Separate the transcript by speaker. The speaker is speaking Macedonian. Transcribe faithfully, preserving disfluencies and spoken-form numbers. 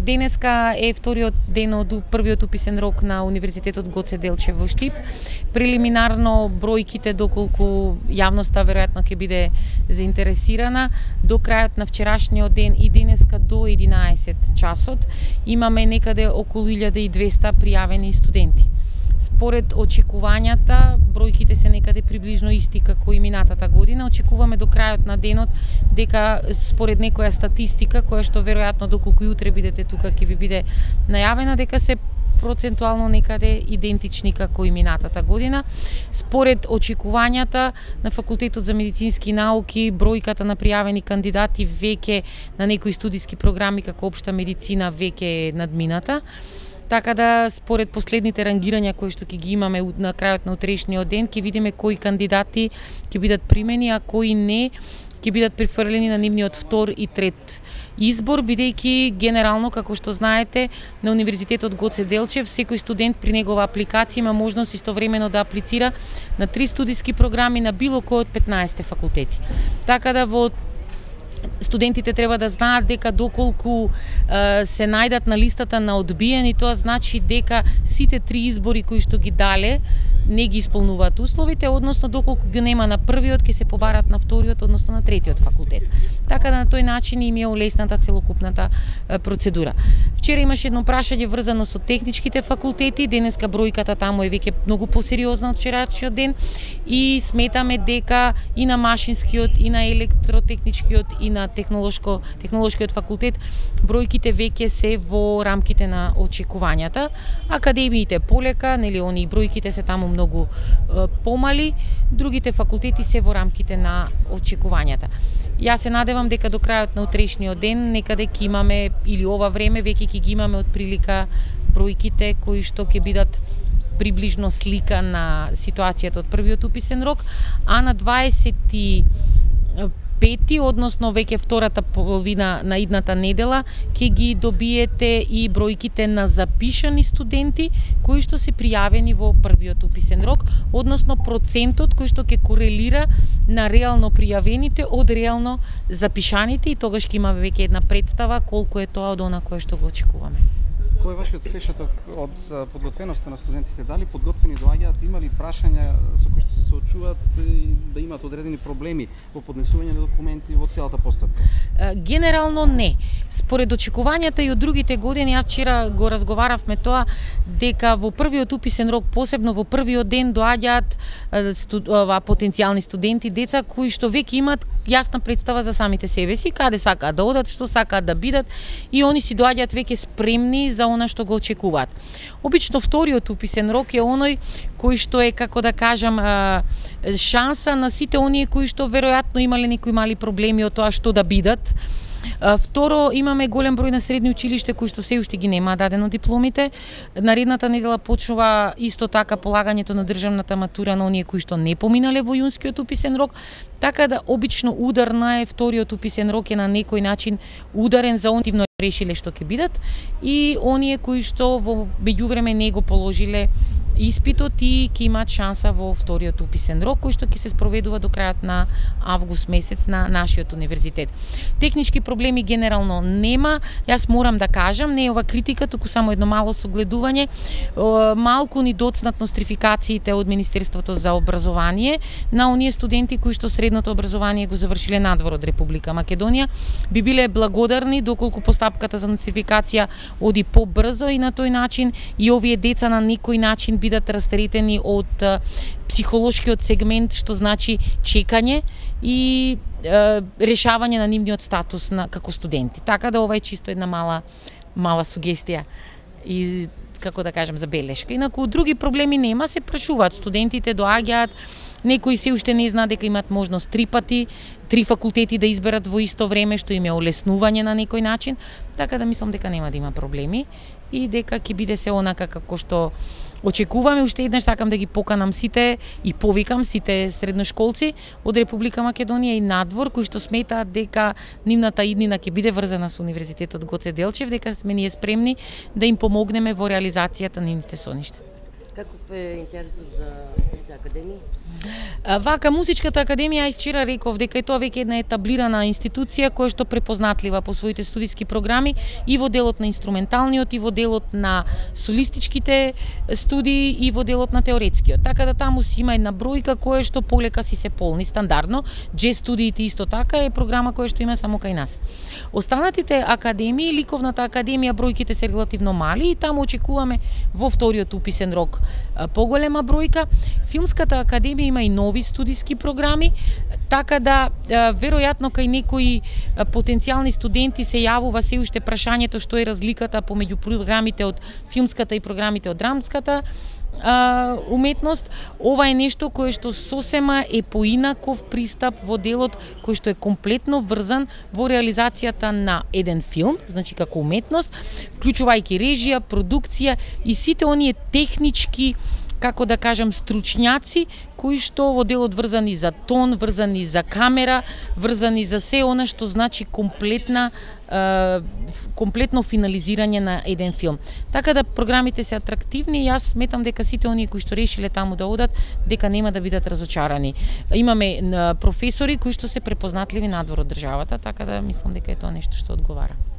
Speaker 1: Денеска е вториот ден од првиот уписен рок на Универзитетот Гоце Делчев во Штип. Прелиминарно бројките, доколку јавноста веројатно ќе биде заинтересирана, до крајот на вчерашниот ден и денеска до единаесет часот имаме некаде околу илјада и двесте пријавени студенти. Според очекувањата, бројките се некаде приближно исти како и минатата година. Очекуваме до крајот на денот дека според некоја статистика, која што веројатно доколку и утре бидете тука ќе ви биде најавена, дека се процентуално некаде идентични како и минатата година. Според очекувањата на Факултетот за медицински науки, бројката на пријавени кандидати веќе на некои студиски програми како општа медицина веќе е надмината. Така да, според последните рангирања кои што ќе ги имаме на крајот на утрешниот ден, ќе видиме кои кандидати ќе бидат примени, а кои не ќе бидат префрлени на нивниот втор и трет избор, бидејќи генерално, како што знаете, на Универзитетот Гоце Делчев секој студент при негова апликација има можност истовремено да аплицира на три студиски програми на било кој од петнаесет факултети. Така да во студентите треба да знаат дека доколку е, се најдат на листата на одбиени, тоа значи дека сите три избори кои што ги дале не ги исполнуваат условите, односно доколку ги нема на првиот, ќе се побарат на вториот, односно на третиот факултет. Така да на тој начин им е олесната целокупната е, процедура. Вчера имаше едно прашање врзано со техничките факултети, денеска бројката таму е веќе многу посериозна од вчерашниот ден и сметаме дека и на машинскиот, и на електротехничкиот, и на технолошко технолошкиот факултет бројките веќе се во рамките на очекувањата. Академиите полека, нели, они бројките се таму многу е, помали, другите факултети се во рамките на очекувањата. Јас се надевам дека до крајот на утрешниот ден некаде ќе имаме, или ова време веќе ќе ги имаме од прилика бројките кои што ќе бидат приближно слика на ситуацијата од првиот уписен рок, а на дваесет и пети, односно веќе втората половина на идната недела, ќе ги добиете и бројките на запишани студенти кои што се пријавени во првиот уписен рок, односно процентот кој што ќе корелира на реално пријавените од реално запишаните, и тогаш ќе имаме веќе една представа колку е тоа од она кое што го очекуваме.
Speaker 2: Кој е вашиот впечаток од подготвеноста на студентите? Дали подготвени доаѓаат, има ли прашања со кои што се соочуваат да имаат одредени проблеми во поднесување на документи во целата постапка?
Speaker 1: Генерално не. Според очекувањата и од другите години, ја вчера го разговаравме тоа, дека во првиот уписен рок, посебно во првиот ден, доаѓаат студ, потенцијални студенти, деца кои што веќе имаат јасна представа за самите себе си, каде сакаат да одат, што сакаат да бидат, и они си доаѓаат веќе спремни за она што го очекуваат. Обично вториот уписен рок е оној кој што е, како да кажам, шанса на сите оние кои што веројатно имале некои мали проблеми од тоа што да бидат. Второ, имаме голем број на средни училиште кои што се уште ги немаат дадено дипломите. Наредната недела почнува исто така полагањето на државната матура на оние кои што не поминале во јунскиот уписен рок. Така да обично ударна е вториот уписен рок, е на некој начин ударен за оние што решиле што ќе бидат и оние кои што во меѓувреме не го положиле испитот и ќе имаат шанса во вториот уписен рок, кој што ќе се спроведува до крајот на август месец на нашиот универзитет. Технички проблеми генерално нема. Јас морам да кажам, не е ова критика, туку само едно мало согледување. Малку ни доцнат нострификациите од Министерството за образование на оние студенти кои што средното образование го завршиле надвор од Република Македонија. Би биле благодарни доколку постапката за нострификација оди побрзо и на тој начин и овие деца на некој начин бидат растретени од психолошкиот сегмент, што значи чекање и е, решавање на нивниот статус на, како студенти. Така да ова е чисто една мала мала сугестија и, како да кажам, забелешка. Инаку други проблеми нема, се прашуваат студентите, доаѓаат, некои се уште не знаат дека имаат можност три пати, три факултети да изберат во исто време, што им е олеснување на некој начин, така да мислам дека нема да има проблеми и дека ќе биде се онака како што очекуваме. Уште еднаш сакам да ги поканам сите и повикам сите средношколци од Република Македонија и надвор кои што сметаат дека нивната иднина ќе биде врзана со Универзитетот Гоце Делчев, дека сме ние спремни да им помогнеме во реализацијата на нивните соништа.
Speaker 3: Каков е интересот за академија?
Speaker 1: Вака, Музичката академија, јас вчера реков дека е тоа веќе една етаблирана институција која што препознатлива по своите студиски програми и во делот на инструменталниот, и во делот на солистичките студии, и во делот на теоретскиот. Така да таму си има една бројка која што полека си се полни стандардно. Джез студиите исто така е програма која што има само кај нас. Останатите академии, Ликовната академија, бројките се релативно мали и таму очекуваме во вториот уписен рок поголема бројка. Филмската академија има и нови студиски програми, така да веројатно кај некои потенцијални студенти се јавува се уште прашањето што е разликата помеѓу програмите од филмската и програмите од драмската а, уметност. Ова е нешто кое што сосема е поинаков пристап во делот кој што е комплетно врзан во реализацијата на еден филм, значи како уметност, вклучувајќи режија, продукција и сите оние технички, како да кажам, стручњаци кои што во делот врзани за тон, врзани за камера, врзани за се она што значи комплетна е, комплетно финализирање на еден филм. Така да програмите се атрактивни и јас сметам дека сите оние кои што решиле таму да одат, дека нема да бидат разочарани. Имаме професори кои што се препознатливи надвор од државата, така да мислам дека е тоа нешто што одговара.